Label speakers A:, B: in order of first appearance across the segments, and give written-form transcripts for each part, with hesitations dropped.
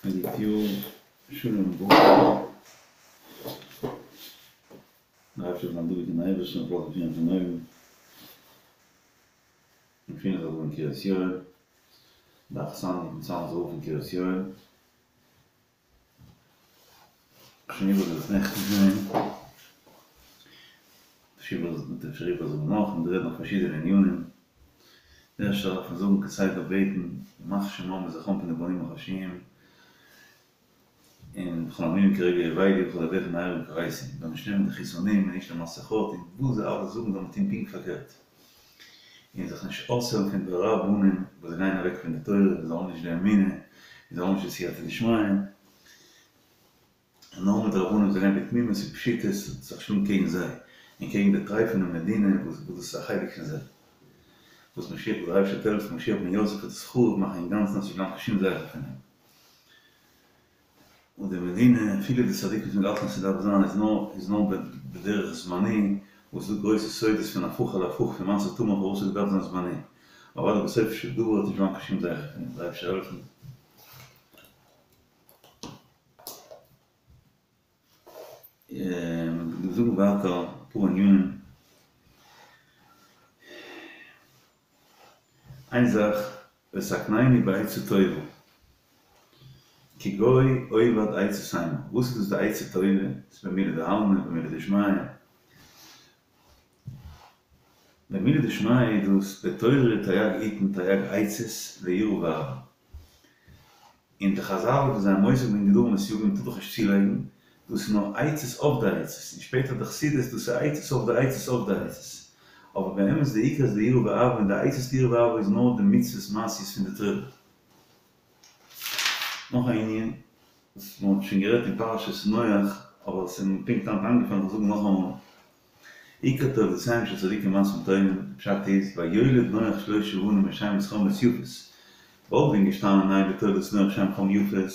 A: א גוט יאר, שלום וברכה. דער אייבערשטער זאל זיין דבוק אין אייבערשטן און זאל פירן פון אויבן. מיר געפינען זיך דא אין קרית יואל, די אכסניא פון צאנזער רב אין קרית יואל. שוין איבערגעזאגט נעכטן פון אים, מ'וועט אפשר איבערזאגן נאך, מ'וועט רעדן אויף פארשידענע ענינים. די ערשטע דארף מען זאגן כסדר בעטן, ימח שמם וזכרם פון די בנים החושיים, און וכל המינים כרגע אבדו וכל אויביך מהרה יכרתו, מ'זאל נישט נעמען די חיסונים און נישט די מסכות, און וואס זיי אלע זאגן זאל מען טון פונקט פארקערט, און זיך נישט אויסהערן פון די רבנים וואס זיי גייען אוועק פון די תורה, זיי האבן נישט די אמונה, און זיי האבן נישט די סייעתא דשמיא. און נאר מיט די רבנים וואס גייען בתמימות ופשיטות זיך שלאגן קעגן זיי, און קעגן די טרייפענע מדינה וואס דאס איז א חלק פון זיי. וואס משיח וואס דער אייבערשטער וועט העלפן משיח בן יוסף וועט עס חרוב מאכן אינגאנצן אז ס'זאל נישט בלייבן קיין שום זכר פון אים. און די מדינה, אפילו די צדיקים וואס מ'האלטן אז ס'דארף זיין איז נאר איז נאר בדרך זמני, וואס איז דא גרויסע סודות פון הפוך על הפוך פון מעשה תמר פארוואס ס'האט געדארפט זיין זמני. אבער אוודאי בסופו של דבר וועט נישט בלייבן קיין שום זכר פון אים, דער אייבערשטער העלפן. מיר זאגן ווייטער אפאר ענינים. איין זאך, ותקנני בעצה טובה, כי גוי אובד עצות המה. וואס איז דאס די עצה טובה? ס'איז במילי דעלמא, במילי דשמיא. במילי דשמיא איז דאס בתורה תרי"ג עיטין תרי"ג עצות ליראה ואהבה. און די חזל וואס זיי האבן עוסק געווען גדרים וסייגים טאר דאך נישט צולייגן, דאס איז נאר עצות אויף די עצות, און שפעטער די חסידות דאס איז עצות אויף די עצות אויף די עצות. אבער באמת די עיקר איז די יראה ואהבה און די עצות ליראה ואהבה איז נאר די מצוות מעשיות פון די תורה. נאך א ענין וואס מען האט שוין גערעדט אין פרשת נח אבער עס איז מיר פונקט היינט איינגעפאלן איך זאג נאכאמאל. עיקר תולדותיהם של צדיקים מעשים טובים, פשט איז, ויולד נח שלשה בנים את שם את חם ואת יפת. וואלט ווען געשטאנען אלה תולדות נח שם חם יפת,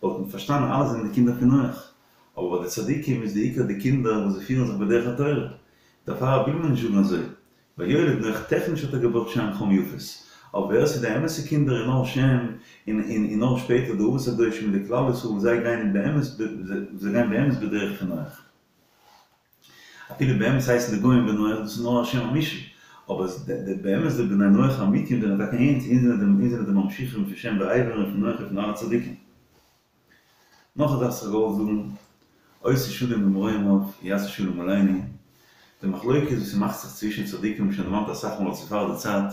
A: וואלט מען פארשטאנען אלע זענען די קינדער פון נח. אבער ביי די צדיקים איז די עיקר די קינדער וואס זיי פירן זיך בדרך התורה. דערפאר וויל מען נישט זאגן אזוי. ויולד נח טעכניש האט ער געבוירט שם חם יפת. אבער ווער עס איז די אמת'ע קינדער איז נאר שם, און און נאר שפעטער די אבות הקדושים און די כלל ישראל וואס זיי גייען באמת זיי גייען באמת בדרך פון נח. אפילו באמת הייסן די גוים בני נח, דאס איז נאר א שם המושאל, אבער באמת די בני נח האמיתיים זענען טאקע אונז, אונז זענען די ממשיכים פון שם ועבר און פון נח און פון אלע צדיקים. נאך א זאך וואס איך געוואלט זאגן, עושה שלום במרומיו יעשה שלום עלינו, די מחלוקת וואס ס'מאכט זיך צווישן צדיקים האב איך שוין דערמאנט אסאך מאל אז ס'איז פאר די צייט,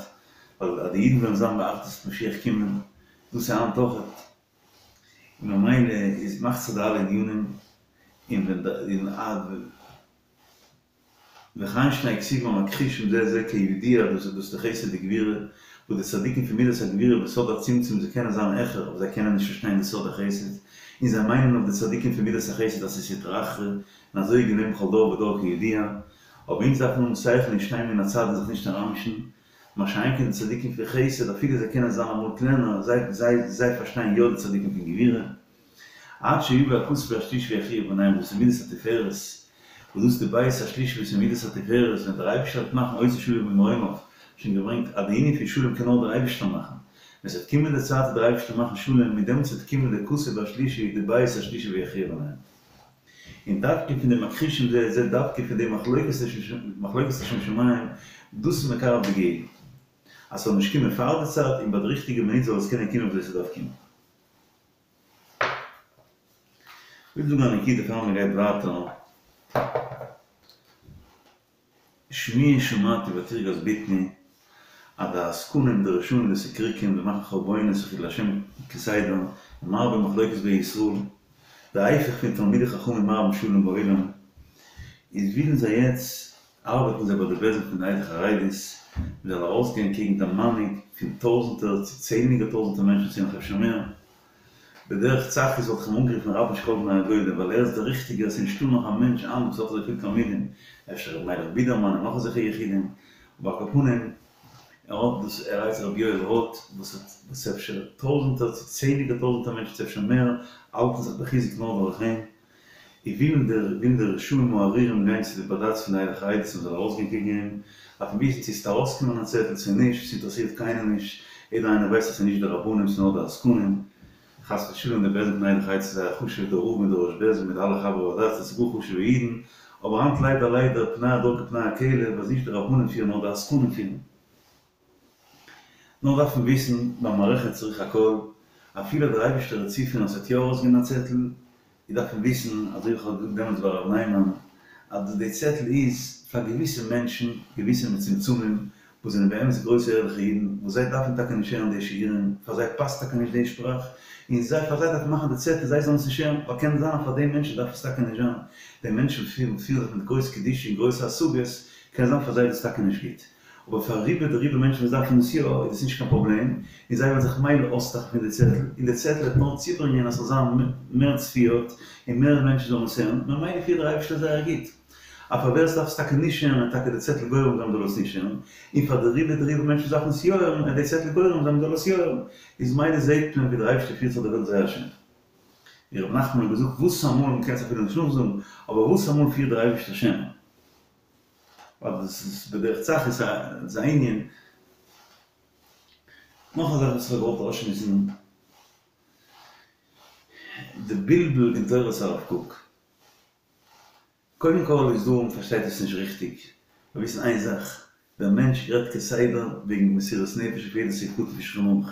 A: ווייל אז די אידן וועלן זיין באחדות וועט משיח קומען, דאס איז היינט אויכעט, און ממילא איז מאכט זיך די אלע ענינים, און ווען די און א וכן שני כתובים המכחישים זה את זה כידוע דאס איז דאס די חסד וגבורה, וואס די צדיקים פון מידת הגבורה בסוד הצמצום זיי קענען זיין העכער אבער זיי קענען נישט פארשטיין די סוד החסד, און זיי מיינען אויף די צדיקים פון מידת החסד אז ס'איז סטרא אחרא, און אזוי איז געווען בכל דור ודור כידוע, אבער אונז דארפן האבן שכל און שטיין מן הצד און זיך נישט אריינמישן, מה שאין כן די צדיקים פון חסד אפילו זיי קענען זיין אמאל קלענער, זיי זיי זיי פארשטייען יא די צדיקים פון גבורה. עד שיבא הכתוב השלישי ויכריע ביניהם דאס איז מידת התפארת, וואס דאס איז די בית השלישי וואס איז מידת התפארת ווען דער אייבישטער וועט מאכן עושה שלום במרומיו, שוין געברענגט אז די ענין פון שלום קען נאר דער אייבישטער מאכן, ווען ס'וועט קומען די צייט וועט דער אייבישטער מאכן שלום, מיט דעמאלטס וועט קומען די כתוב השלישי די בית השלישי ויכריע ביניהם. און דווקא פון די מכחישים זה את זה דווקא פון די מחלוקת לשם שמים, דאס איז מקרב די גאולה. אז ס'זאל נישט קומען פאר די צייט און ביי די ריכטיגע מינוט זאל עס קענען קומען וויאזוי ס'דארף קומען. כ'וויל זאגן א נקודה פאר מ'גייט ווייטער. שמועה שמעתי ותרגז בטני, אז די עסקנים די רשעים די סיקריקים די מאכן חרבונות און חילול השם כסדר, און מרבים מחלוקת בישראל, די היפך פון תלמידי חכמים מרבים שלום בעולם, איז ווילן זיי יעצט ארבעטן זיי ביי די בית דין פון די עדה החרדית, מען זאל ארויסגיין קעגן די מנהיג פון טויזענטער צו צענדליגער טויזענטער מענטשן צו נאך אפשר מער, בדרך צחות וואלט איך אים אנגערופן רבן של כל בני הגולה ווייל ער איז דער ריכטיגער ס'איז נישטא נאך א מענטש היינט וואס האט אזויפיל תלמידים, אפשר ר' מיילעך בידערמאן און נאך אזעלכע יחידים, אבער על כל פנים ער האט דאס ער הייסט ר' יואל ראטה וואס האט וואס אפשר טויזענטער צו צענדליגער טויזענטער מענטשן צו אפשר מער האלטן זיך בחיזוק נאר דורך אים, און ווילן די ווילן די רשעים הארורים גיין צו די בדץ פון די עדה החרדית און מ'זאל ארויסגיין קעגן אים, דארף מען וויסן צו ס'וועט ארויסקומען א צעטל צו נישט, ס'אינטערעסירט קיינעם נישט, יעדער איינער ווייסט אז ס'איז נישט די רבנים ס'איז נאר די עסקנים. חס ושלום די בית דין פון עדה החרדית איז זייער חשוב, דער רב מיט דער ראש בית דין מיט אלע חברי בד"ץ דאס איז גאר חשוב'ע אידן, אבער היינט ליידער ליידער פני הדור כפני הכלב אז נישט די רבנים פירן נאר די עסקנים פירן. נאר דארף מען וויסן במערכת צריך הכל, אפילו דער אייבערשטער וועט צופירן אז ס'וועט יא ארויסגיין א צעטל, איז דארף מען וויסן, אזוי ווי איך האב געזאגט דעמאלטס ביי הרב ניימאן, אז די צעטל איז פאר געוויסע מענטשן, געוויסע מצומצמים, וואס זענען באמת גרויסע ערליכע אידן, וואס זיי דארפן טאקע נישט הערן די שיעורים, פאר זיי פאסט טאקע נישט די שפראך, און זיי פאר זיי דארף מען מאכן די צעטל זיי זאלן עס נישט הערן, ווייל קען זיין אז פאר די מענטשן דארף עס טאקע נישט זיין, די מענטשן פירן פירן זיך מיט גרויס קדושה און גרויסע השגות, קען זיין פאר זיי איז דאס טאקע נישט גוט. אבער פאר רובא דרובא מענטשן וואס דארפן עס יא, איז עס נישט קיין פראבלעם, און זיי וועלן זיך מילא אויסלאכן פון די צעטל, און די צעטל וועט נאר צוברענגען אז ס'זאל זיין מער צפיות, און מער מענטשן זאלן עס הערן, ממילא פירט דער אייבערשטער זייער גוט. אז פאר ווער עס דארף עס טאקע נישט הערן וועט טאקע די צעטל גורם זיין מ'זאל עס נישט הערן, און פאר די רובא דרובא מענטשן וואס דארפן עס יא הערן וועט די צעטל גורם זיין מ'זאל עס יא הערן, איז מילא זעט מען ווי דער אייבערשטער פירט זיך די וועלט זייער שיין. ווי ר' נחמן האט געזאגט וואס אמאל, מ'קען עס אפילו נישט נאכזאגן, אבער וואס אמאל פירט דער אייבערשטער שענער. ווייל דאס איז בדרך צחות איז א ענין. נאך א זאך וואס איך האב געוואלט אויסשמועסן, די בלבול אין תורת הרב קוק. קודם כל איז דא, מ'פארשטייט עס נישט ריכטיג, מיר וויסן איין זאך, דער מענטש רעדט כסדר וועגן מסירות נפש אויף יעדע סעיף קטן פון שולחן ערוך.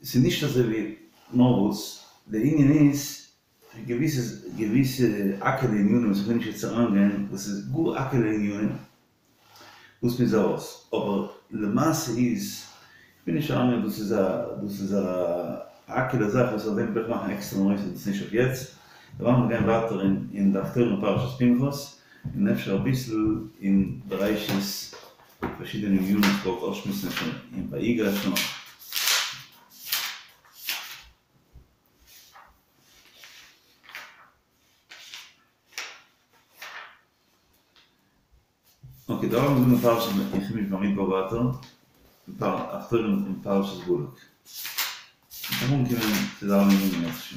A: ס'איז נישט אזוי ווי, נאר וואס, דער ענין איז, געוויסע געוויסע האקעלע ענינים וואס איך וויל נישט יעצט אריינגיין, וואס איז גאר האקעלע ענינים, וואס מ'איז ארויס, אבער למעשה איז, איך וויל נישט אריינגיין דאס איז א דאס איז א האקעלע זאך וואס אויף דעם וויל איך מאכן עקסטערע נושא דאס איז נישט אויף יעצט, דערווייל מיר גייען ווייטער אין אין די הפטורה אין פרשת פנחס, און אפשר אביסל אין בראשית פארשידענע ענינים וואס איך וואלט אויסשמועסן אפשר אין ויגש נאך. אקעי, דא האבן מיר פרשת אין חומש במדבר ווייטער, הפטורה אין פרשת בלק. מ'קען אנקומען צו די אלע ענינים אם ירצה השם.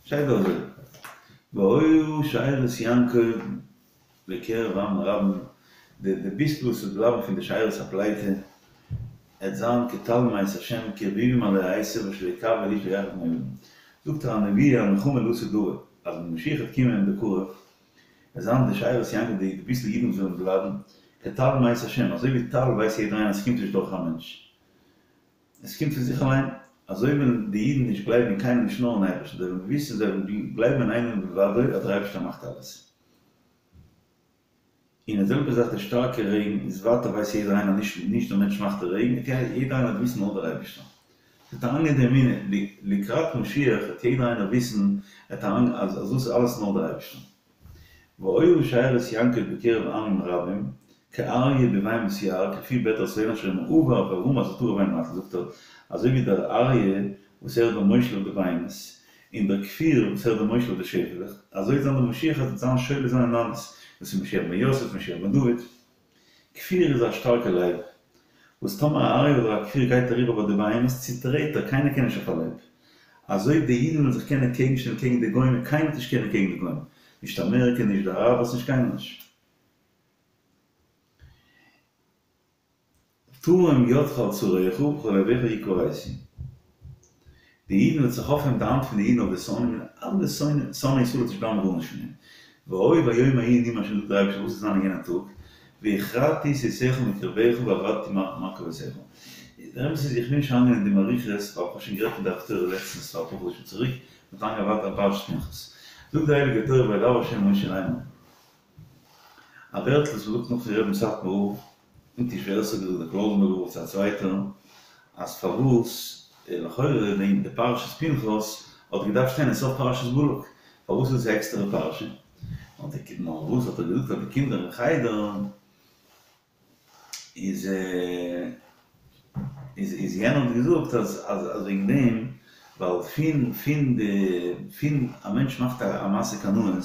A: שטייט דא אזוי, והיה שארית יעקב בקרב עמים רבים, די די ביסל וואס וועט בלייבן פון די שארית הפליטה, עט זיין כטל מאת השם כרביבים עלי עשב אשר לא יקוה אל איש ויחד בני אדם. זאגט ער א נבואה א נחמה לעתיד לבוא, אז ווען משיח וועט קומען בקרוב, עט זיין די שארית יעקב די ביסל אידן וואס וועלן בלייבן, כטל מאת השם, אזוי ווי טל ווייסט יעדער איינער אז ס'קומט נישט דורך א מענטש, עס קומט פון זיך אליין, אזוי וועלן די אידן נישט גלייבן אין קיינעם נישט נאר אין אייבערשטן, זיי וועלן וויסן, זיי וועלן גלייבן אין איינעם בלבדו אז דער אייבערשטער מאכט אלעס. און די זעלבע זאך די שטארקע רעגן איז ווייטער ווייסט יעדער איינער נישט נישט דער מענטש מאכט די רעגן, יעדער איינער וועט וויסן נאר דער אייבערשטער. ס'וועט אריינגיין די אמונה, לקראת משיח וועט יעדער איינער וויסן אז דאס איז אלעס נאר דער אייבערשטער. והיה שארית יעקב בקרב עמים רבים, כאריה בבהמות יער, ככפיר בעטר שונא אשר אם עבר ורמס וטרף ואין מציל, זאגט ער, אזוי ווי דער אריה וואס ער איז דער מושל אויף די בהמות, און דער כפיר וואס ער איז דער מושל אויף די שעפעלעך, אזוי וועט זיין דער משיח אז ער וועט זיין שולט זיין אין אלעס, דאס איז משיח בן יוסף, משיח בן דוד. כפיר איז א שטארקע לייב, וואס טאמער א אריה אדער א כפיר גייט אריבער ביי די בהמות צוטרעט ער, קיינער קען נישט אויף א לייב. אזוי די אידן וועלן זיך קענען קעגן שטעלן קעגן די גוים און קיינער וועט נישט קענען קעגן די גוים, נישט אמעריקע נישט די אראבערס נישט קיינער נישט. תרום ידך על צריך ובכל אויביך יכו הייתי. די אידן וועט זיך אויפהייבן די האנט פון די אידן אויף די שונאים און אלע שונאי ישראל וועט נישט בלייבן גארנישט פון אים. והיה ביום ההוא נאום השם זאגט דער אייבערשטער וואס וועט זיין אין יענע טאג, והכרתי סוסיך מקרבך ואבדתי מרכבותיך. דער אמת איז איך וויל נישט אריינגיין אין דעם אריכות ווייל איך האב שוין גערעדט אין די הפטורה לעצטנס פאר אפאר חדשים צוריק, מ'וועט אריינגיין ווייטער אין פרשת פנחס. זאגט די הייליגע תורה וידבר ה' אל משה לאמר. א ווערטל וואס מ'זאגט נאך פון רבי'ן סאטמאר רב, נישט ווער עס האט געזאגט דער קלויזנבורגער רב צו א צווייטער, אז פארוואס לכאורה די פרשת פנחס האט געדארפט שטיין אין סוף פרשת בלק, פארוואס איז עס א עקסטערע פרשה? נאר וואס האט ער געזאגט פאר די קינדער אין חדר איז איז איז יענער האט געזאגט אז אז וועגן דעם ווייל פון פון די פון א מענטש מאכט א מעשה קנאות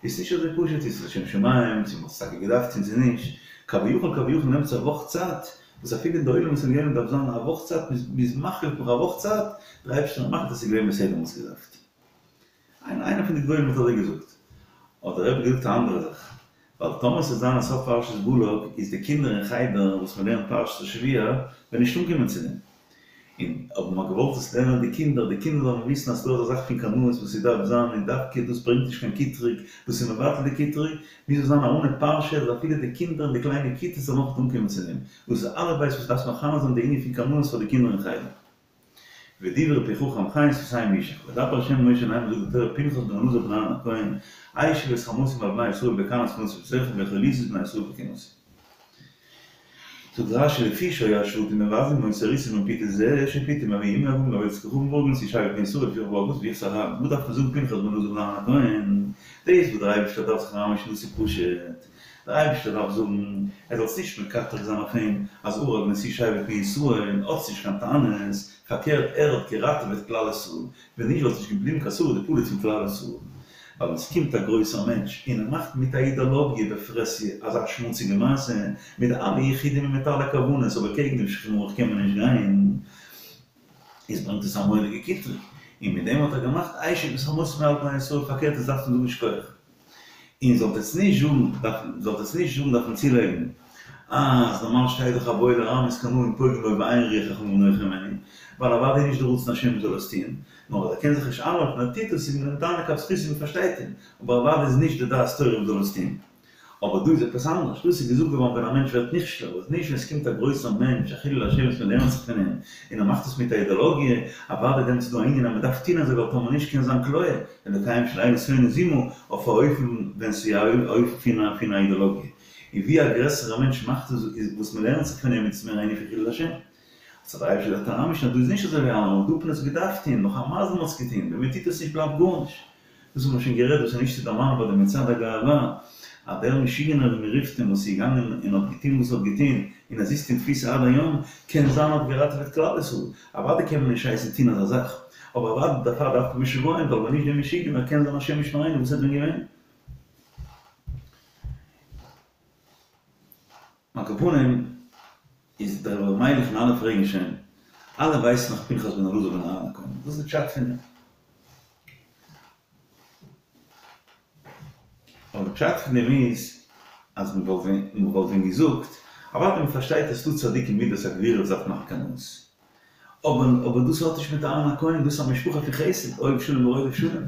A: איז נישט אזוי פשוט צו ס'איז לשם שמים צו מ'האט עס טאקע געדארפט טון צו נישט, כביכול כביכול נעמט עס א וואך צייט, וואס אפילו אין די עולמות עליונים דארף זיין א וואך צייט מ'איז מחליט נאך א וואך צייט, דער אייבערשטער מאכט אז ס'איז געווען בסדר מ'האט עס געדארפט. איינער פון די גדולים האט אזוי געזאגט. האט דער רבי געזאגט א אנדערע זאך. ווייל טאמער ס'וועט זיין א סוף פרשת בלק איז די קינדער אין חדר וואס מ'לערנט פרשת השבוע וועלן נישט אנקומען צו דעם. און אויב מ'האט געוואלט עס לערנען די קינדער, די קינדער זאלן וויסן אז ס'דא אזא זאך פון קנאות וואס ס'דארף זיין און דווקא דאס ברענגט נישט קיין קטרוג, דאס איז מבטל די קטרוג, מוז עס זיין א אנע פרשה אז אפילו די קינדער אין די קליינע כיתות זאלן אויך אנקומען צו דעם. דאס איז אלף בית וואס דארפסט מחנך זיין די ענין פון קנאות פאר די קינדער אין חדר. ודברי פי חכם חן שפתים ישק. וידבר ה' אל משה לאמר זאגט די תורה פנחס בן אלעזר בן אהרן הכהן, השיב את חמתי מעל בני ישראל בקנאו את קנאתי בתוכם ולא כליתי את בני ישראל בקנאתי. זאגט רש"י לפי שהיו השבטים מבזים אותו הראיתם פיתוי זה שפיתום אביהם אברהם לעבודת כוכבים והרגו נשיא שבט בני ישראל לפיכך בא הכתוב ויחס אהרן וואס דארף מען זאגן פנחס בן אלעזר בן אהרן הכהן דאס וואס דער אייבערשטער דארף זיך אריינמישן דאס איז פשוט דער אייבערשטער דארף זאגן ער זאל נישט מקטרג זיין אויף אים אז הרג נשיא שבט בני ישראל האטס נישט קיין טענות פארקערט ער האט געראטעוועט כלל ישראל ווען נישט וואלט נישט געבליבן קיין שריד ופליט פון כלל ישראל. ווייל ווען ס'קומט א גרויסער מענטש און ער מאכט מיט א אידאלאגיע בפרהסיא אזא שמוציגע מעשה, מיט די אלע יחודים און מיט אלע כוונות, אבער קעגן דעם שולחן ערוך קען מען נישט גיין, איז ברענגט עס א מורא'דיגע קטרוג. און מיט דעם האט ער געמאכט השיב את חמתי מעל בני ישראל, פארקערט עס דארף מען זאגן שכוח. און זאלט עטס נישט זאגן, זאלט עטס נישט זאגן דארף מען צולייגן, אז נארמאל שטייט דאך הבא לרמות קנאים פוגעים בו ואין רוח חכמים נוחה הימנו, ווייל אוודאי איז נישט די רצון השם מ'זאל עס טוען, נאר אז ער קען זיך נישט איינהאלטן ער טוט עס איז מען אים דן לכף זכות און מ'פארשטייט אים, אבער אוודאי איז נישט די דעת תורה מ'זאל עס טוען. אבער דא איז עפעס אנדערש, דאס איז געזאגט געווארן ווען א מענטש ווערט נכשל, אבער נישט ווען עס קומט א גרויסער מענטש, א חילול השם וואס מען לערנט זיך פון אים, און ער מאכט עס מיט א אידאלאגיע, אוודאי דעמאלטס איז דא א ענין אז מען דארף טון אזוי ווייל טאמער נישט קען זיין כליה, אלקיהם של אלו שונא זימה, אויף א אופן ווען ס'איז א אופן פון א אידאלאגיע. און ווי א גרעסערע מענטש מאכט עס איז וואס מען לערנט זיך פון אים איז עס מער א ענין פון חילול השם. האט דער אייבערשטער געזאגט אריינמישן אז דא איז נישט אזוי ווי אלעמאל, דא האט מען עס געדארפט טון, נאך א מזל מען האט עס געטון, ווען מען טוט עס נישט בלייבט גארנישט. דאס האט מען שוין גערעדט, דאס איז נישט צו דערמאנען ביי די מצעד הגאווה, אז דער משוגענער ווי מען רופט אים וואס איז געגאנגען און האט געטון וואס ער האט געטון, און ער זיצט אין תפיסה עד היום, קען זיין האט געראטעוועט כלל ישראל, אוודאי קען מען נישט הייסן טון אזא זאך, אבער אוודאי דערפאר דארף מען משוגעים, ווייל ווען נישט דער משוגענער קען זיין השם ישמרינו וואס וואלט ווען געווען. על כל פנים איז דער רבי מיילעך און אלע פרעגן שוין, אלע ווייסן נאך פנחס בן אלעזר בן אהרן הכהן, וואס איז די פשט פון דעם? אבער די פשט פון דעם איז אז מען וואלט ווען מען וואלט ווען געזאגט, אוודאי מען פארשטייט אז ס'דא צדיקים מידת הגבורה וואס דארף מאכן קנאות, אבער אבער דאס האט נישט מיט אהרן הכהן, דאס איז א משפחה פון חסד, אוהב שלום ורודף שלום,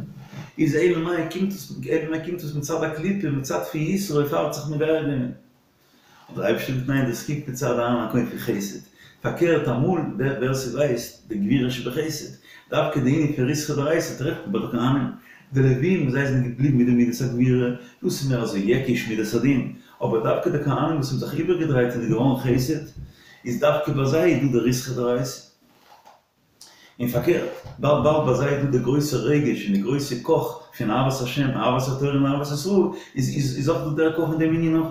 A: איז אלא מאי קומט עס אלא מאי קומט עס מצד הקליפה, מצד פון יתרו פאר האט זיך מגייר געווען. האט דער אייבערשטער געזאגט ניין דאס קומט מצד אהרן הכהן פון חסד, פארקערט אמאל ווער ווער ס'ווייסט די גבורה שבחסד, דווקא די ענין פון ריתחא דאורייתא טרעפט מען ביי די כהנים, די לווים זיי זענען געבליבן מיט די מידת הגבורה, דאס איז מער אזוי יעקיש מידת הדין, אבער דווקא די כהנים וואס האבן זיך איבערגעדרייט און איז געווארן חסד, איז דווקא ביי זיי איז דא די ריתחא דאורייתא. און פארקערט, באלד באלד ביי זיי איז דא די גרויסע רגש און די גרויסע קאך פון אהבת השם, אהבת התורה און אהבת ישראל, איז איז איז אויך דא דער קאך אין דעם ענין אויך.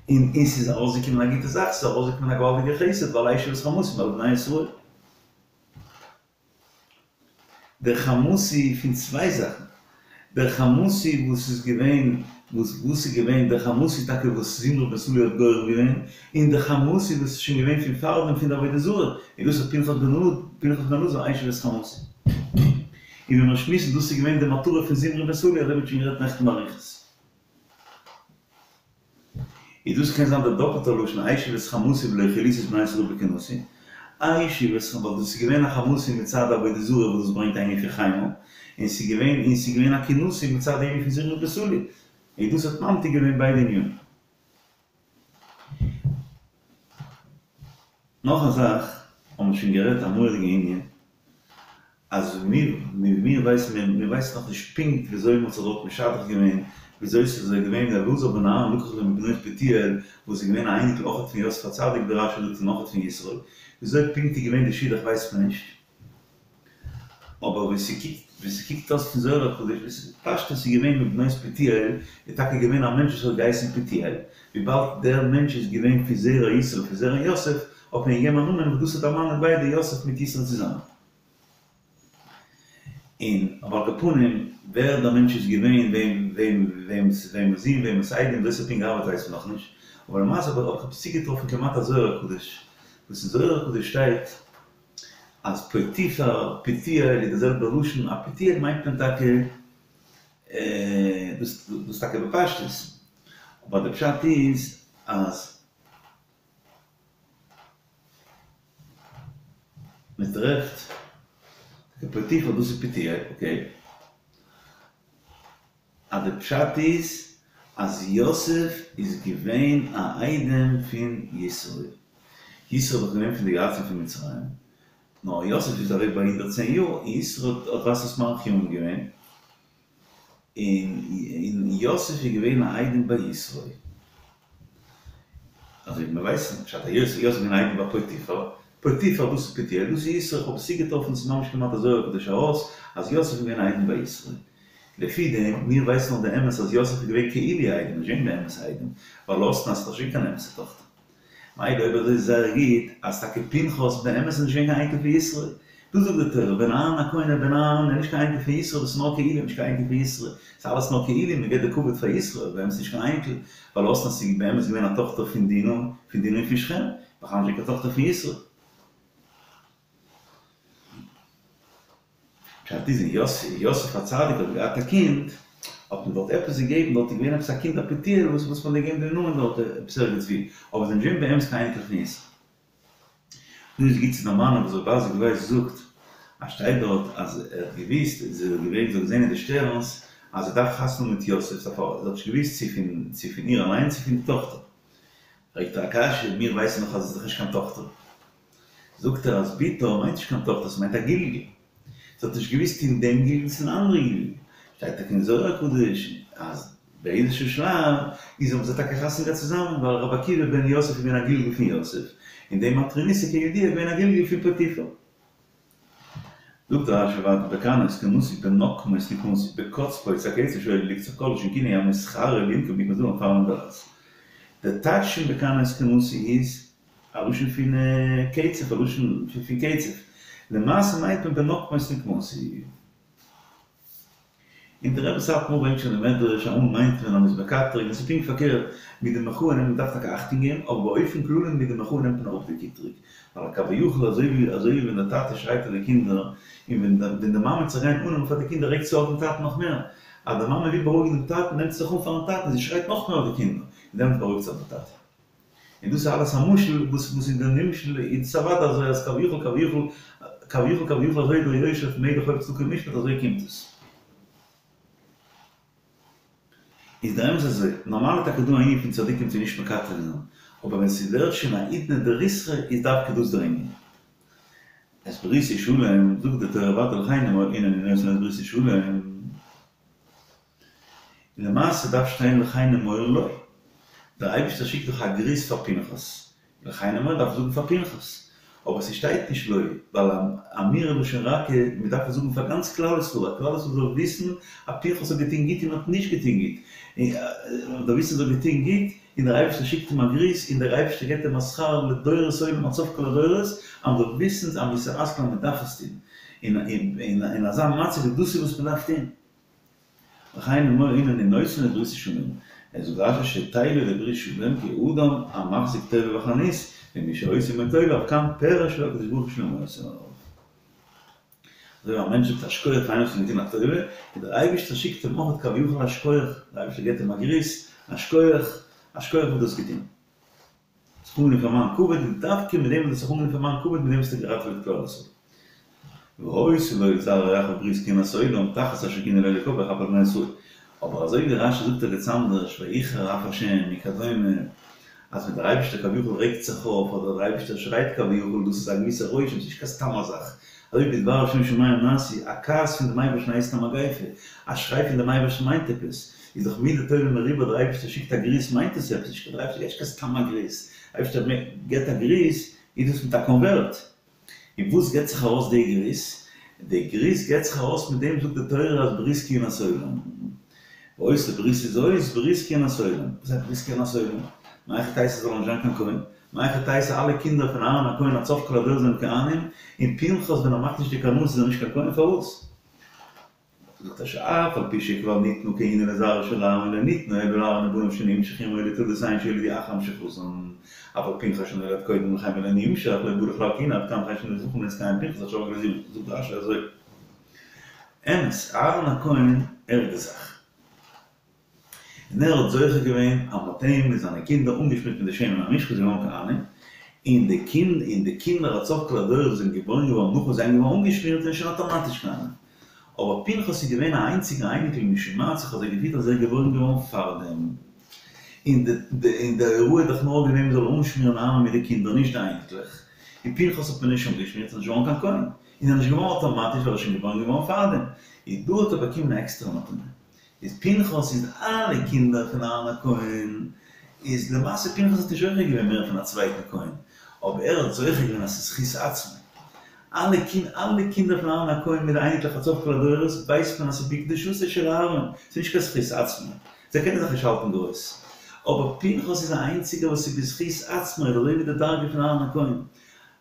A: און און ס'איז ארויסגעקומען א גוטע זאך, ס'איז ארויסגעקומען א געוואלדיגער חסד, ווייל השיב את חמתי מעל בני ישראל. דער חמתי פון צוויי זאכן, דער חמתי וואס איז געווען, וואס וואס איז געווען דער חמתי טאקע וואס זמרי בן סלוא האט גורם געווען, און דער חמתי וואס איז שוין געווען פון פארדעם פון די עבודה זרה, און דאס האט פנחס בן אלעזר, פנחס בן אלעזר השיב את חמתי. און ווי מיר שמועסן דאס איז געווען די מטרה פון זמרי בן סלוא, אזוי ווי מ'האט שוין גערעדט נעכטן באריכות. איז דאס קען זיין דער דאפעלטער לשון השיב את חמתי ולא כליתי את בני ישראל בקנאתי, השיב את חמתי ווייל דאס איז געווען א חמתי מצד עבודה זרה וואס דאס ברענגט א ענין פון חימה, און ס'איז געווען און ס'איז געווען א קנאתי מצד די ענין פון זמרי בן סלוא, און דאס האט ממתיק געווען ביידע ענינים. נאך א זאך האבן מיר שוין גערעדט א מורא'דיגע ענין, אז מיר מיר ווייסן מיר מיר ווייסן נאך נישט פונקט וויאזוי מ'האט זיך דארט משדך געווען, וויאזוי ס'איז אזוי געווען ווי אלעזר בן אהרן לקח לו מבנות פוטיאל וואס איז געווען א אייניקל אויכעט פון יוסף הצדיק ווי רש"י זאגט און אויכעט פון יתרו, וויאזוי פונקט איז געווען די שידוך ווייסט מען נישט, אבער ווי ס'קוקט ווי ס'קוקט אויס פון זוהר הקדוש איז פשטות ס'איז געווען מבנות פוטיאל איז טאקע געווען א מענטש וואס האט געהייסן פוטיאל, וויבאלד דער מענטש איז געווען פון זרע יתרו פון זרע יוסף האט מען געגעבן א נאמען וואס דאס האט דערמאנט ביידע יוסף מיט יתרו צוזאמען. און אבער על כל פנים ווער דער מענטש איז געווען, וועם וועם וועמס וועמענס זון וועמענס איידעם ווי ס'האט פונקט געארבעט ווייסט מען נאכנישט, אבער למעשה האב איך עפעס צוגעטראפן כמעט א זוהר הקדוש, וואס אין זוהר הקדוש שטייט אז פוטיפר, פוטיאל איז די זעלבע לשון, א פוטיאל מיינט מען טאקע דאס דאס טאקע בפשטות. אבער די פשט איז אז מען טרעפט פוטיפר דאס איז פוטיאל, אקעי. אז די פשט איז אז יוסף איז געווען א איידעם פון יתרו. יתרו איז דאך געווען פון די יועצים פון מצרים. נאר יוסף איז אוועק ביי 110 יאר, און יתרו האט ווייזט אויס מאריך ימים געווען. און יוסף איז געווען א איידעם ביי יתרו. אזוי ווי מיר ווייסן, פשט אז יוסף איז געווען א איידעם ביי פוטיפר, פוטיפר דאס איז פוטיאל, דאס איז יתרו, איך האב עס צוגעטראפן, ס'איז ממש כמעט א זוהר הקדוש ארויס, אז יוסף איז געווען א איידעם ביי יתרו. לפי דעם, מיר ווייסן נאך די אמת אז יוסף איז געווען כאילו איידעם, נישט געווען באמת איידעם, ווייל אסנת איז דאך נישט געווען קיין אמת'ע טאכטער. מילא אויב אזוי איז זייער גוט אז טאקע פנחס באמת איז נישט געווען קיין אייניקל פון יתרו. דא זאגט די תורה בן אהרן הכהן איז בן אהרן איז נישט קיין אייניקל פון יתרו דאס איז נאר כאילו נישט קיין אייניקל פון יתרו. ס'איז אלעס נאר כאילו מען געבט די כבוד פאר יתרו אבער באמת נישט קיין אייניקל ווייל אסנת איז באמת געווען א טאכטער פון דינה פון דינה און פון שכם בכלל נישט געווען קיין טאכטער פון יתרו. פשט איז ווען יוסף הצדיק האט געהאט א קינד האט מען דארט עפעס געגעבן דארט איז געווען עפעס א קינד א פוטיאל וואס וואס מען האט געגעבן דעם נאמען דארט עפעס ערגעץ ווי אבער זיי זענען נישט געווען באמת קיין אייניקלעך פון יתרו. דא איז גוט צו דערמאנען וואס רבי אייזיק ווייס זאגט אז שטייט דארט אז ער האט געוויסט זי האט געווען זי האט געזען אין די שטערנס אז זי דארף חתונה מיט יוסף זי האט נישט געוויסט צו פון צו פון איר אליין צו פון די טאכטער פרעגט ער א קשיא מיר ווייסן דאך אז עס איז דאך נישט קיין טאכטער זאגט ער אז בתו מיינט נישט קיין טאכטער ס'מיינט א גלגול. זי האט נישט געוויסט אין דעם גלגול צו אין אנדערע גלגול. שטייט טאקע אין זוהר הקדוש אז באיזשהו שלב איז האבן זיי טאקע חתונה געהאט צוזאמען ווייל רבי עקיבא בן יוסף איז געווען א גלגול פון יוסף און די מטרוניתא כידוע איז געווען א גלגול פון פוטיפר. זאגט רשי ווייטער בקנאו את קנאתי בנקמו את נקמתי בקצפו את הקצף שהיה לי לקצוף כל לשון כינוי המתחרה לנקום נקמת דמים פאר דעת. די טייטש פון בקנאו את קנאתי איז א לשון פון קצף, א לשון פון קצף. למעשה מיינט מען בנקמו את נקמתי. און דער רבי סאטמאר ברענגט שוין די מדרש, אמאל מיינט מען אז מ'איז מקטרג, און ס'איז פונקט פארקערט, מיט די מחאה נעמט מען דארף טאקע אכטונג געבן, אבער באופן כללי מיט די מחאה נעמט מען אראפ די קטרוג. ווייל כביכול אזוי ווי אזוי ווי ווען דער טאטע שרייט אויף די קינדער, און ווען ווען די מאמע וועט זיך גיין אננעמען פאר די קינדער רעגט זי אויף דעם טאטן נאך מער. אז די מאמע וויל בארואיגן דעם טאטן נעמט זי זיך אן פארן טאטן, זי שרייט נאך מער אויף די קינדער, און דעמאלטס בארואיגט זיך דער טאטע. און דאס איז אלעס א משל וואס וואס אין די נמשל איז עס אוודאי אזוי אז כביכול כביכול כביכול כביכול אזוי דער יושב מלך אוהב צדקה ומשפט אזוי קומט עס. איז דער אמת אזוי, נארמאל איז טאקע דא א ענין פון צדיקים צו נישט מקטרג זיין, אבער ווען ס'ווערט שוין א עידנא דריסרא איז דווקא דאס דער ענין. את בריתי שלום, זאגט די תורה ווייטער לכן נאמר הנני נותן לו את בריתי שלום. למעשה דארף שטיין לכן אמור לו. דער אייבערשטער שיקט דאך א גריס פאר פנחס, לכן אמור דארף זאגן פאר פנחס, אבער ס'שטייט נישט לו, ווייל אמירה לשון רכה, מ'דארף עס זאגן פאר גאנץ כלל ישראל, אז כלל ישראל זאל וויסן אז פנחס האט געטון גוט און האט נישט געטון גוט, און דער וויסן אז ער האט געטון גוט, און דער אייבערשטער שיקט אים א גריס, און דער אייבערשטער געבט אים א שכר לדורות עולם עד סוף כל הדורות, אז מ'זאל וויסן אז מוסר השכל אז מ'דארף עס טון, און אין אזא מצב ווי דאס איז וואס מ'דארף טון. לכן אמור הנני נותן לו את בריתי שלום, ער זאגט רשי שתלה לברית שלום כי אדם המחזיק טובה בחנות ומי שעושה עמו טובה אף כאן פירש לו הקדוש ברוך הוא שלום עושה עליו. אזוי ווי א מענטש זאגט א שכוח פאר איינעם וואס האט אים געטון א טובה, און דער אייבערשטער שיקט אים אויך כביכול א שכוח, דער אייבערשטער געבט אים א גריס, א שכוח, א שכוח וואס דו האסט געטון. זיך אנגענומען פאר מיין כבוד, און דווקא מיט דעם וואס דו האסט זיך אנגענומען פאר מיין כבוד, מיט דעם האסטו געראטעוועט כלל ישראל. והיתה לו ולזרעו אחריו ברית כהונת עולם, תחת אשר קנא לאלוקיו ויכפר על בני ישראל. אבער אזוי ווי רשי זאגט ערגעץ אנדערש ויחר אף השם וכדומה, אז ווען דער אייבערשטער כביכול רעגט זיך אויף, אדער דער אייבערשטער שרייט כביכול, דאס איז א געוויסע רושם, ס'איז נישט קיין סתם א זאך. אזוי ווי בדבר השם שמים נעשו, א כעס פון דעם אייבערשטן הייסט א מגיפה, א שריי פון דעם אייבערשטן מיינט עפעס, איז דאך מידה טובה מרובה דער אייבערשטער שיקט א גריס מיינט עס עפעס, נישט דער אייבערשטער געט נישט קיין סתם א גריס, דער אייבערשטער געט א גריס איז דאס מיט א קאנווערט, און וואס געט זיך ארויס די גריס? די גריס געט זיך ארויס מיט דעם זאגט די תורה אז ברית כהונת עולם, והיתה בריתי זאת ברית כהונת עולם, וואס הייסט ברית כהונת עולם? מהיכי תיתי זאל נישט זיין קיין כהן? מהיכי תיתי אלע קינדער פון אהרן הכהן עד סוף כל הדורות זענען כהנים, און פנחס ווען ער מאכט נישט די קנאות איז ער נישט קיין כהן פארוואס? זאגט ער שאף על פי שכבר ניתנה כהונה לזרעו של אהרן לא ניתנה אלא לאהרן ובניו שנמשחו עמו לתולדותיהן שיולדו אחר המשכתן, אבל פנחס שנולד קודם לכן ולא נמשח לא בא לכלל כהונה עד כאן וכן שנו זכין להתקיים פנחס עד שרגלו זיו זאגט רשי אזוי אמת אהרן הכהן ער איז די זאך. און ער האט זוכה געווען אז מ'האט אים און זיינע קינדער אנגעשמירט מיט די שמן המשחה זיי געווארן כהנים, און די קינד און די קינדער עד סוף כל הדורות וואס זענען געבוירן געווארן נאך וואס זיי זענען געווארן אנגעשמירט זענען שוין אטאמאטיש כהנים. אבער פנחס איז געווען א איינציגע אייניקל משום מה האט זיך אזוי געפירט אז ער איז געבוירן געווארן פארדעם. און די און די הוראה איז דאך נאר געווען מ'זאל אנשמירן אהרן מיט די קינדער נישט די אייניקלעך. און פנחס האט מען נישט אנגעשמירט איז נישט געווארן קיין כהן. און ער איז נישט געווארן אטאמאטיש ווייל ער איז שוין געבוירן געווארן פארדעם. איז דא האט ער באקומען א עקסטערע מתנה. איז פנחס איז אלע קינדער פון אהרן הכהן, איז למעשה פנחס האט נישט זוכה געווען מער פון א צווייטן כהן, אבער ער האט זוכה געווען אז ס'איז זכות עצמו. אלע קינ אלע קינדער פון אהרן הכהן מיט די אייניקלעך עד סוף כל הדורות ווייסט מען אז ס'איז בקדושתו של אהרן, ס'איז נישט קיין זכות עצמו, זיי קענען זיך נישט האלטן גרויס. אבער פנחס איז א איינציגער וואס איז בזכות עצמו, איז אזוי ווי די דרגה פון אהרן הכהן.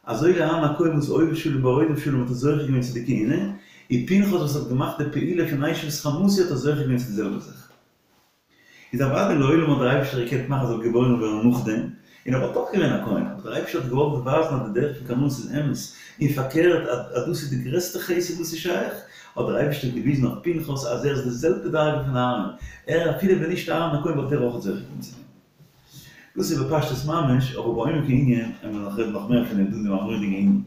A: אזוי ווי אהרן הכהן וואס אוהב שלום ורודף שלום האט ער זוכה געווען צו די כהונה, און פנחס וואס האט געמאכט די פעולה פון השיב את חמתי האט ער זוכה געווען צו די זעלבע זאך. איז אוודאי לעולם האט דער אייבישטער געקענט מאכן ער זאל געבוירן ווערן נאכדעם, און ער וואלט אויך געווען א כהן, אבער דער אייבישטער האט געוואלט ווייזן אז די דרך פון קנאות איז אמת, און פארקערט אז אז דאס איז די גרעסטע חסד וואס איז שייך, האט דער אייבישטער געוויזן אויף פנחס אז ער איז די זעלבע דרגה פון אהרן, ער אפילו ווען נישט אהרן הכהן וואלט ער אויך זוכה געווען צו דעם. דאס איז בפשטות ממש, אבער בעומק הענין וועלן מיר נאך רעדן נאך מער פון דעם דא אין דעם מורא'דיגן ענין.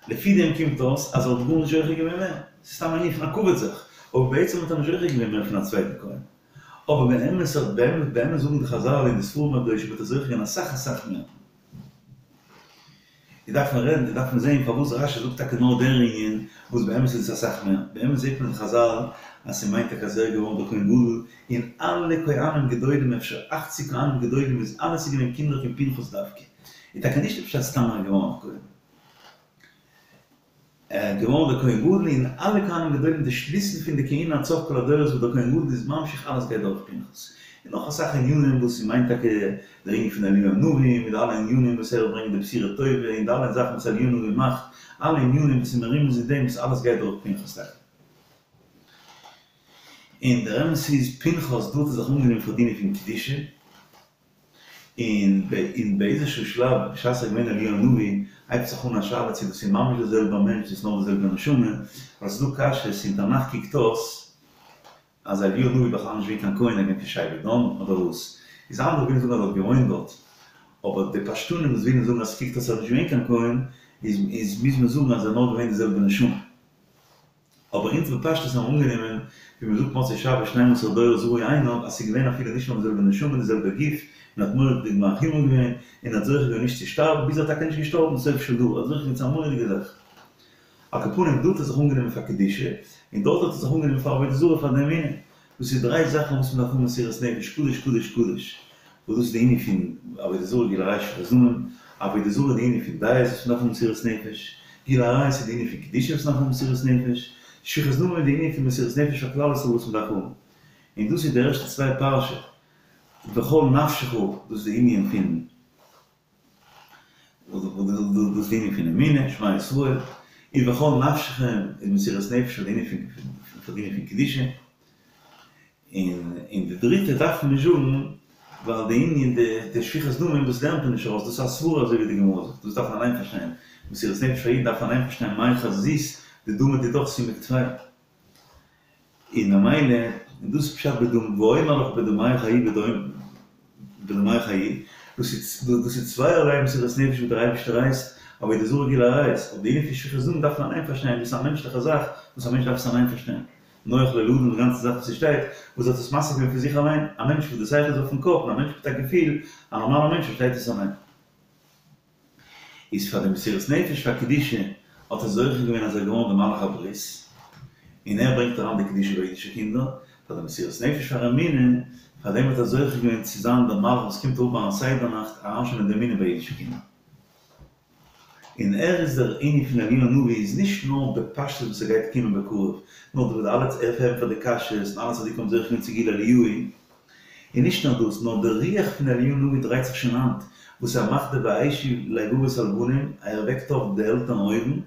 A: לפי דעם קומט אויס אז ער האט גארנישט זוכה געווען מער, ס'איז סתם א ענין פון א כבוד זיך, אבער בעצם האט ער נישט זוכה געווען מער פון א צווייטן כהן. אבער באמת האט באמת באמת זאגן די חזל און די ספרים הקדושים האט ער זוכה געווען אסאך אסאך מער. איז דארף מען רעדן, דארף מען זעהן פארוואס רשי זאגט טאקע נאר דער ענין, וואס באמת איז עס אסאך מער. באמת זעהט מען אין חזל אז ס'מיינט טאקע אז ער איז געווארן דער כהן גדול, און אלע כהנים גדולים, אפשר אכציג כהנים גדולים איז אלעס איז געווען קינדער פון פנחס דווקא. איז טאקע נישט די פשט סתם ער איז געווארן א כהן. ער איז געווארן דער כהן גדול און אלע כהנים גדולים די שליסל פון די כהונה עד סוף כל הדורות וואס דער כהן גדול איז ממשיך אלעס גייט דורך פנחס. און נאך אסאך ענינים וואס ס'מיינט טאקע דער ענין פון אליהו הנביא מיט די אלע ענינים וואס ער ברענגט די בשורה טובה און די אלע זאכן וואס אליהו הנביא מאכט אלע ענינים וואס איז מרומז אין דעם וואס אלעס גייט דורך פנחס טאקע. און דער אמת איז פנחס דא האט ער זיך אנגענומען פאר די ענין פון קדושה. און און באיזשהו שלב בשעת ער איז געווען אליהו הנביא הייבט זיך אן א שאלה צו דאס איז ממש דער זעלבער מענטש דאס איז נאר די זעלבע נשמה, ווייל ס'איז דא קשיות אין תנך קוקט אויס אז אליהו הנביא איז בכלל נישט געווען קיין כהן ער איז געווען פון שבט דן אדער וואס, איז אנדערע ווילן זאגן אז ער האט געוואוינט דארט, אבער די פשטנים וואס ווילן זאגן אז ס'קוקט אויס אז ער איז נישט געווען קיין כהן איז איז מוז מען זאגן אז ער איז נאר געווען די זעלבע נשמה. אבער אונז בפשטות האבן אנגענומען, ווי מ'זאגט מוצאי שבת שנים עשר דורות ראו עיניו, אז ס'איז געווען אפילו נישט נאר די זעלבע נשמה די זעלבע גוף, און האט מורא'דיג מרחיב געווען, און האט זוכה געווען נישט צו שטארבן, ביז ער האט טאקע נישט געשטארבן סוף של דור, האט זוכה געווען צו א מורא'דיגע זאך. על כל פנים, דא האט ער זיך אנגענומען פאר קדושה, און דארט האט ער זיך אנגענומען פאר עבודה זרה פאר די אמונה. דאס איז דריי זאכן וואס מ'דארף האבן מסירות נפש, קדוש קדוש קדוש, וואס דאס איז די ענין פון עבודה זרה גילוי עריות שפיכות דמים, עבודה זרה איז די ענין פון דעות וואס מ'דארף האבן מסירות נפש, גילוי עריות איז די ענין פון קדושה וואס מ'דארף האבן מסירות נפש, שפיכות דמים איז די ענין פון מסירות נפש פאר כלל ישראל וואס מ'דארף האבן. און דאס איז די ערשטע צוויי פרשה, בכל נפשך, דאס איז די ענין פון. דאס איז די ענין פון אמונה, שמע ישראל, ובכל נפשכם איז מסירת נפש פאר די ענין פון פאר די ענין פון קדושה, און און די דריטע דארף מען נישט זאגן ווייל די ענין די די שפיכת דמים דאס לערנט מען נישט ארויס דאס איז א סברא אזוי ווי די גמרא זאגט דאס דארף מען אליין פארשטיין, מסירת נפש פאר אידן דארף מען אליין פארשטיין מאי חזית דדמא דידך סומק טפי. און ממילא און דאס איז פשט בדמ ואומר לך בדמיך חיי בדמיך חיי, דאס איז דאס איז צווייערליי מסירת נפש וואס דער אייבערשטער הייסט, עבודה זרה גילוי עריות, אבער די ענין פון שפיכות דמים דארף מען אליין פארשטיין, דאס איז א מענטשליכע זאך וואס א מענטש דארף עס אליין פארשטיין, נוח לא לאדם די גאנצע זאך וואס ס'שטייט, וואס האט עס משיג געווען פון זיך אליין, א מענטש וואס די שכל איז אויפן קאפ און א מענטש מיט א געפיל, א נארמאלער מענטש פארשטייט עס אליין. איז פאר די מסירות נפש פאר קדושה האט ער זוכה געווען אז ער איז געווארן די מלאך הברית, און ער ברענגט אריין די קדושה ביי אידישע קינדער, פאר די מסירות נפש פאר אמונה, פאר דעם האט ער זוכה געווען צו זיין דער מלאך וואס קומט אראפ ביים סדר נאכט אריינשטעלן די אמונה ביי אידישע קינדער. און ער איז דער ענין פון אליהו הנביא איז נישט נאר בפשטות וואס ער גייט קומען בקרוב, נאר דער וואס אלע ער ענטפערט די קשיות און אלע צדיקים האבן זוכה געווען צו גילוי אליהו, און נישט נאר דאס, נאר דער רוח פון אליהו הנביא דרייט זיך שוין היינט, וואס ער מאכט די והשיב לב אבות על בנים, ער וועקט אויף די עלטערן אויבן,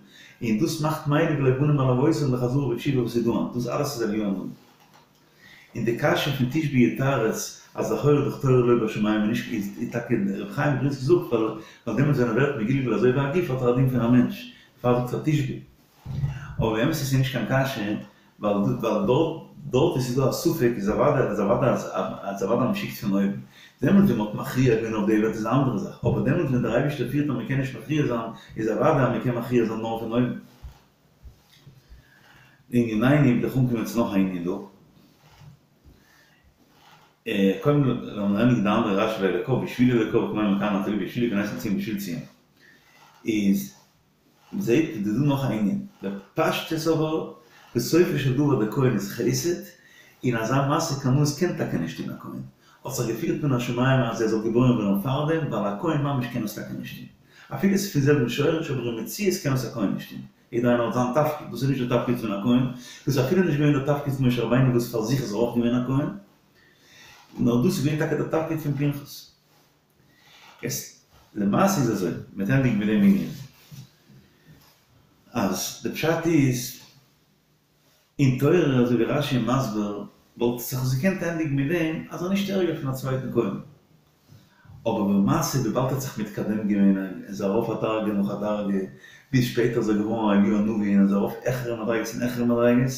A: און דאס מאכט מלב לב בנים על אבותם לחזרה בתשובה וואס איז דא היינט, דאס אלעס איז אליהו הנביא. און די קשיא פון תשבי יתרץ אז לכאורה איז דאך תורה לא בשמים און נישט איז טאקע רבי חיים מבריסק זאגט ווייל ווייל דעמאלטס ווען ער ווערט מגולגל אזוי ווי א גוף האט ער א דין פון א מענטש, דערפאר זאגט ער תשבי. אבער באמת איז עס נישט קיין קשיא. ווייל ווייל דארט דארט ווי ס'איז דא א ספק איז אוודאי איז אוודאי אז אז אוודאי מ'שיקט פון אויבן. דעמאלט ווען מ'האט מכריע געווען אויף די וועלט איז א אנדערע זאך, אבער דעמאלט ווען דער אייבערשטער פירט אז מ'קען נישט מכריע זיין איז אוודאי אז מ'קען מכריע זיין נאר פון אויבן. לענינינו וויל איך אנקומען צו נאך א ענין דא. קודם לאמיר ענדיגן די אנדערע רשי לאלקיו בשביל אלקיו כמים לכהני התורה בשביל להיכנס לציון בשביל ציון איז מ'זעהט איז דא נאך א ענין, בפשטות אבער בסופו של דבר דער כהן איז חסד, און אזא מעשה קנאות קען טאקע נישט טון א כהן, האט זיך געפירט מן השמים אז ער זאל געבוירן ווערן פארדעם, ווייל א כהן ממש קען עס טאקע נישט טון, אפילו עס איז פון זעלבן שורש אבער אין מציאות קען עס א כהן נישט טון, יעדער איינער האט זיין תפקיד, דאס איז נישט דער תפקיד פון א כהן, דאס איז אפילו נישט געווען דער תפקיד פון משה רבינו וואס פאר זיך איז ער אויך געווען א כהן, נאר דאס איז געווען טאקע דער תפקיד פון פנחס. יעצט למעשה איז אזוי, מ'וועט ענדיגן מיט דעם ענין, אז די פשט איז, אין תורה אזוי ווי רש"י איז מסביר, וואלט זיך עס געקענט ענדיגן מיט דעם אז ער איז נישט ערגער פון א צווייטן כהן, אבער למעשה וויבאלד ער האט זיך מתקדם געווען, ער איז ארויף א דרגה נאך א דרגה, ביז שפעטער איז ער געווארן א אליהו הנביא און איז ארויף העכערע מדריגות און העכערע מדריגות,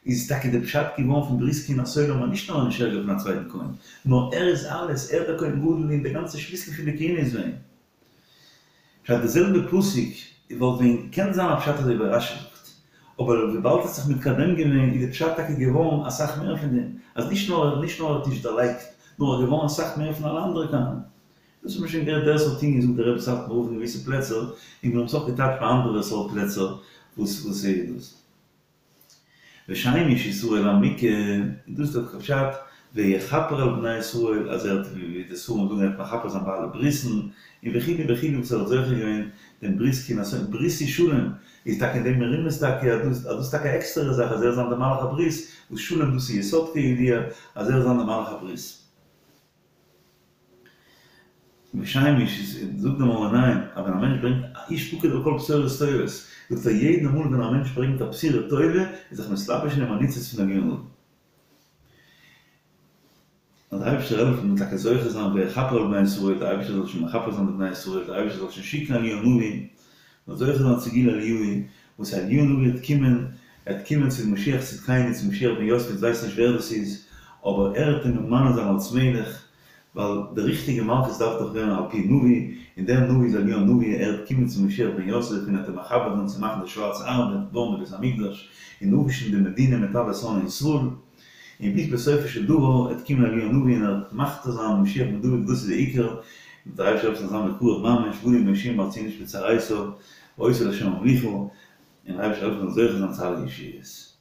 A: איז טאקע די פשט געווארן פון ברית כהונת עולם אז נישט נאר ער איז נישט ערגער פון א צווייטן כהן, נאר ער איז אלעס, ער דער כהן גדול און די גאנצע שליסל פון די כהונה איז ביי אים. פשט די זעלבע פסוק וואלט ווען געקענט זיין א פשט אזוי ווי רש"י זאגט, אבער וויבאלד ער האט זיך מתקדם געווען איז די פשט טאקע געווארן אסאך מער פון דעם, אז נישט נאר נישט נאר ער האט נישט דערלייגט, נאר ער איז געווארן אסאך מער פון אלע אנדערע כהנים. דאס האט מען שוין גערעדט דער סארט ענין זאגט דער רבי סאטמאר רב אין געוויסע פלעצער, און מיר האבן עס אויך געטייטשט ביי אנדערע סארט פלעצער וואס וואס איז דאס. ושם איש ישראל המוכה, און דאס איז דאך פשט ויכפר על בני ישראל, אז ער האט ווי די ספרים זאגן ער האט מכפר זיין ביי אלע ברית'ן, און וכו' וכו' וואס ער האט זוכה געווען דעם ברית כהונת עולם, ברית איז שלום, איז טאקע אין דעם מרומז טאקע אז דאס אז דאס איז טאקע א עקסטערע זאך אז ער זאל זיין דער מלאך הברית, וואס שלום דאס איז יסוד כידוע, אז ער זאל זיין דער מלאך הברית. ושם איש זאגט דער מאור עיניים אז ווען א מענטש ברענגט א איש פקוד על כל בשורות טובות, זאגט ער יעדע מאל ווען א מענטש ברענגט א בשורה טובה איז זיך מתלבש אין אים א ניצוץ פון אליהו הנביא. אז דער אייבערשטער העלפן מ'זאל טאקע זוכה זיין ויכפר על בני ישראל, דער אייבערשטער זאל שוין מכפר זיין די בני ישראל, דער אייבערשטער זאל שוין שיקן אליהו הנביא, מ'זאל זוכה זיין צו גילוי אליהו, וואס אליהו הנביא וועט קומען, ער וועט קומען צו משיח צדקינו, צו משיח בן יוסף, אונז ווייסן נישט ווער דאס איז, אבער ער וועט אים ממנה זיין אלס מלך, ווייל די ריכטיגע מלכות דארף דאך ווערן על פי נביא, און דער נביא איז אליהו הנביא, ער וועט קומען צו משיח בן יוסף און ער וועט אים מכבד זיין צו מאכן די שווארצע ארבעט, בויען די בית המקדש, און אפווישן די מדינה מיט אלע שונאי ישראל, און ביז בסופו של דבר וועט קומען אליהו הנביא און ער וועט מכתיר זיין משיח בן דוד, דאס איז די עיקר, און דער אייבערשטער זאל זיין בקרוב ממש, באנו מושיעים בארצנו נשפט ארייתא, והיתה לה' המלוכה, און דער אייבערשטער זאל העלפן מ'זאל זוכה זיין צו אלע ישועות.